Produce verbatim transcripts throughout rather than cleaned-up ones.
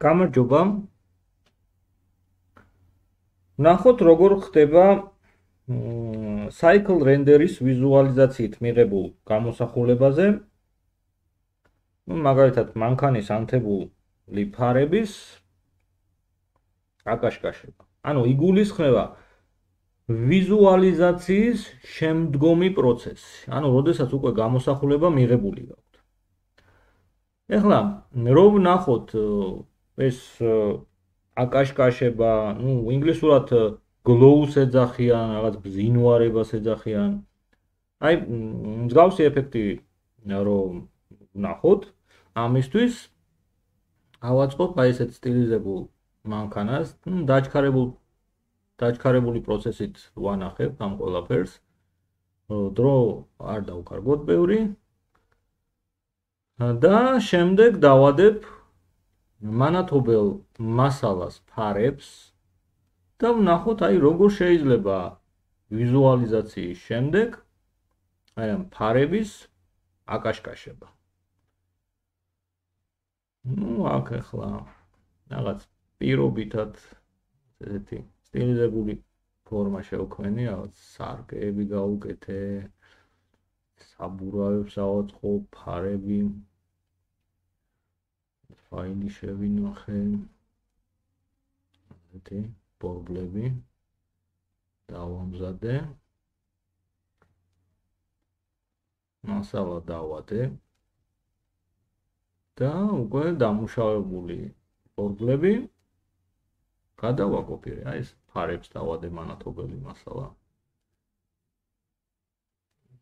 გამარჯობა. ნახოთ როგორ ხდება cycle render-ის ვიზუალიზაციით მიღებულ გამოსახულებაზე. ну, მაგალითად, მანქანის ანთებული ფარების აკაშკაშება. ანუ იგულისხმება ვიზუალიზაციის შემდგომი პროცესი. ანუ, როდესაც უკვე გამოსახულება მიღებული გაქვთ. ეხლა, რომ ნახოთ ეს აკაშკაშება, ну, ინგლისურად glow-ს ეძახიან, რაღაც ბზინვარებას ეძახიან. აი, მსგავსი ეფექტი რომ ნახოთ, ამისთვის ავაწყობ აი ესეთ სტილიზებულ მანქანას, ну, დაჩქარებულ დაჩქარებული პროცესით ვანახებ ამ ყველაფერს. დრო არ დავკარგოთ ბევრი. და შემდეგ დავადებ მანათობელ მასალას ფარებს და ვნახოთ აი როგორ შეიძლება ვიზუალიზაციის შემდეგ აი ამ ფარების აკაშკაშება. ну, აქ ახლა რაღაც პირობითად ესეთი სტილიზებული ფორმა შევქმნი, რაღაც სარკეები გავუკეთე, საბურავებს ავაწყობ, ფარები ფაილი შევინახე, ესეთი ბორბლები დავამზადე, მასალა დავადე და უკვე დამუშავებული ბორბლები გადავაკოპირე, აი ეს ფარებს დავადე მანათობელი მასალა.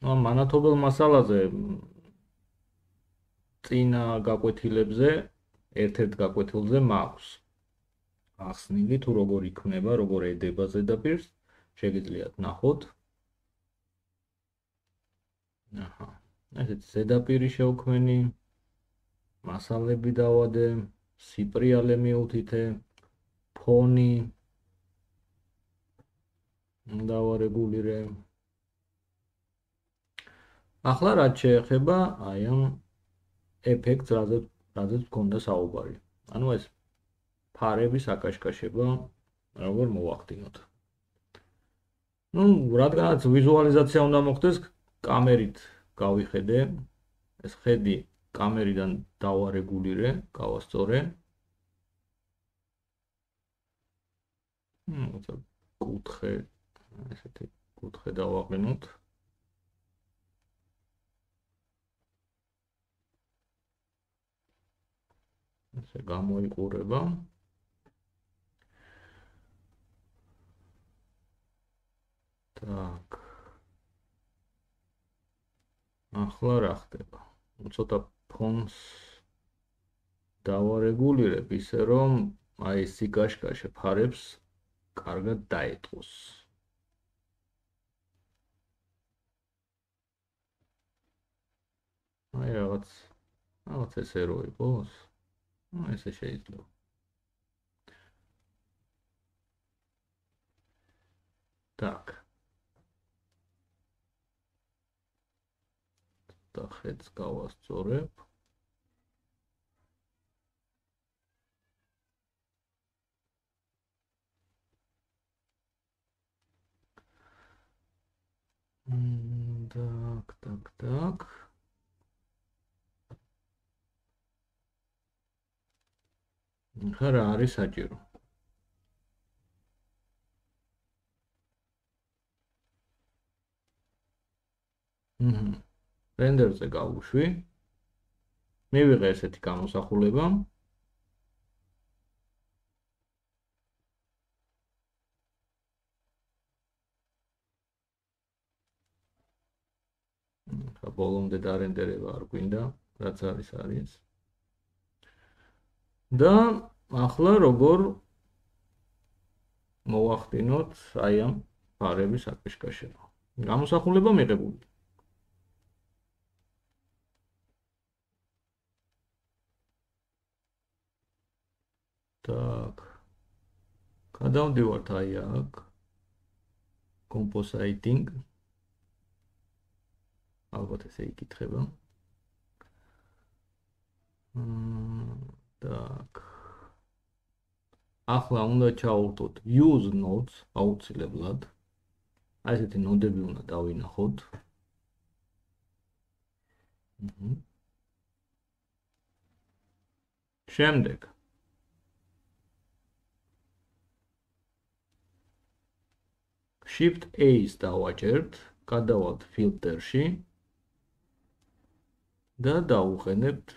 ну, მანათობელ მასალაზე წინა გაკვეთილებზე ერთ-ერთ გაკვეთილზე მაქვს ახსნილი თუ როგორ იქნება, როგორ ედება ზედაპირს, შეგიძლიათ ნახოთ. აჰა, ესეთ ზედაპირი შევქმნი, მასალები დავადე, სიპრიალე მიუთითე, ფონი დავარეგულირე. ახლა რაც შეეხება აი ამ ეფექტს, რაზეც რაზეც გქონდა საუბარი. ანუ ეს ფარების აკაშკაშება როგორ მოვახდინოთ. ну, რადგანაც ვიზუალიზაცია უნდა მოხდეს, კამერით გავიხედე. ეს ხედი კამერიდან დავარეგულირე, გავასწორე. ну, это კუთხე, ესეთი კუთხე დავაყენოთ. ესე გამოიყურება. так. ახლა რა ხდება? ცოტა ფონს დავარეგულირებ ისე რომ აი ეს სიკაშკაშე ფარებს კარგად დაეტყოს. აი რაღაც რაღაც ესე რო იყოს. ну, ესე შეიძლება. так. და ხედს გავასწორებ. так, так, так. ხარა არის საჭირო. ჰმ. რენდერზე გავუშვი. მივიღე ესეთი გამოსახულება. ხა ბოლომდე დარენდერება არ გვინდა, რაც არის არის. და ახლა როგორ მოვახდინოთ აი ამ ფარების აკაშკაშება. გამოსახულება მიღებული. так. გადავდივართ აი აქ. compositing. ალბათ ესე იკითხება. так. ახლა უნდა ჩავურტოთ use notes აუცილებლად. აი ესეთი ნოდები უნდა დავინახოთ. შემდეგ Shift A-ს დავაჭერთ, გადავალთ ფილტრში და დავუყენებთ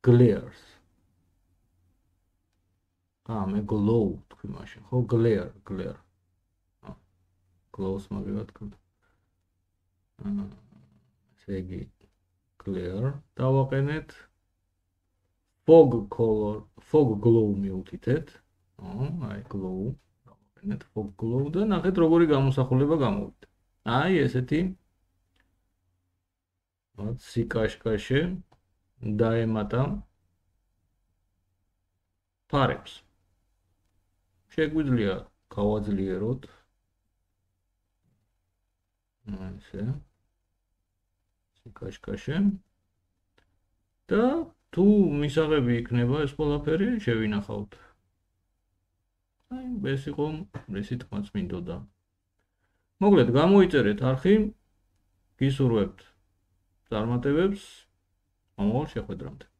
glares. აა, მე glow თქვი მაშინ, ხო, glare, glare. აა, glow-ს მაგივადგოთ. აა, ესე იგი glare დავაყენეთ. Fog color, fog glow მივუთითეთ. აა, აი glow დავაყენეთ fog glow და ნახეთ როგორი გამოსახულება გამოვიდა. აი ესეთი მათ სიკაშკაშე დაემატა ფარებს. შეგვიძლია გავაძლიეროთ. ასე. სიკაშკაშე. და თუ მისაღები იქნება ეს ყველაფერი, შევინახავთ. აი, ეს იყო ეს თქმაც მინდოდა. მოკლედ, გამოიწერეთ არხი, გისურვებთ წარმატებებს, მომავალ შეხვედრამდე.